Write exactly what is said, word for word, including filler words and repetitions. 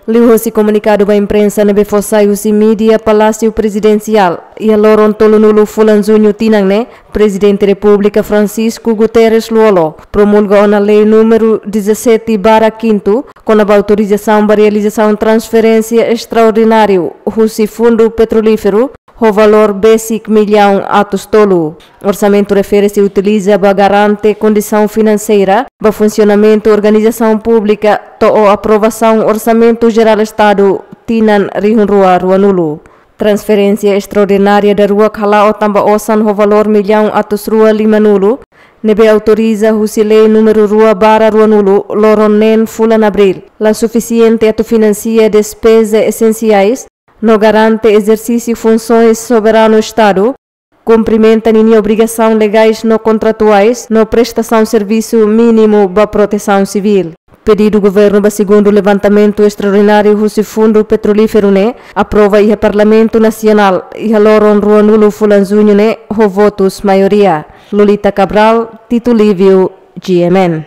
Liuhosi komunikadu ba imprensa ne'ebé fó sai husi mídia Palásiu Prezidensiál iha loron tolunulu fulan Juñu tinan ne'e, Prezidente Repúblika Francisco Guterres Lú-Olo promulga ona lei númeru dezassete barra quinto, kona-ba autorizasaun ba realizasaun transferénsia estraordináriu husi Fundu Petrolíferu, ho valór besik millaun atus tolu. Orsamentu refere-se utiliza ba garante kondisaun finanseira ba funsionamentu organizasaun públika to'o aprovasaun Orsamentu Jerál Estadu tinan rihun rua ruanulu. Transferénsia estraordinária daruak hala'o tanba osan ho valór millaun atus rua limanulu, ne'ebé autoriza husi lei númeru rua barra ruanulu, loron neen fulan Abríl, la sufisiente atu finansia despeza esensiais, no garante ezersísiu funsoens soberanu Estadu, kumprimenta ninia obrigasaun legais no kontratuais, no prestasaun servisu mínimu ba protesaun sivíl. Pedidu governu ba segundu levantamentu estraordináriu husi Fundu Petrolíferu ne'e aprova iha Parlamentu Nasionál iha loron ruanulu fulan Juñu ne'e ho votus maioria. Lolita Cabral, Tito Livio, G M N.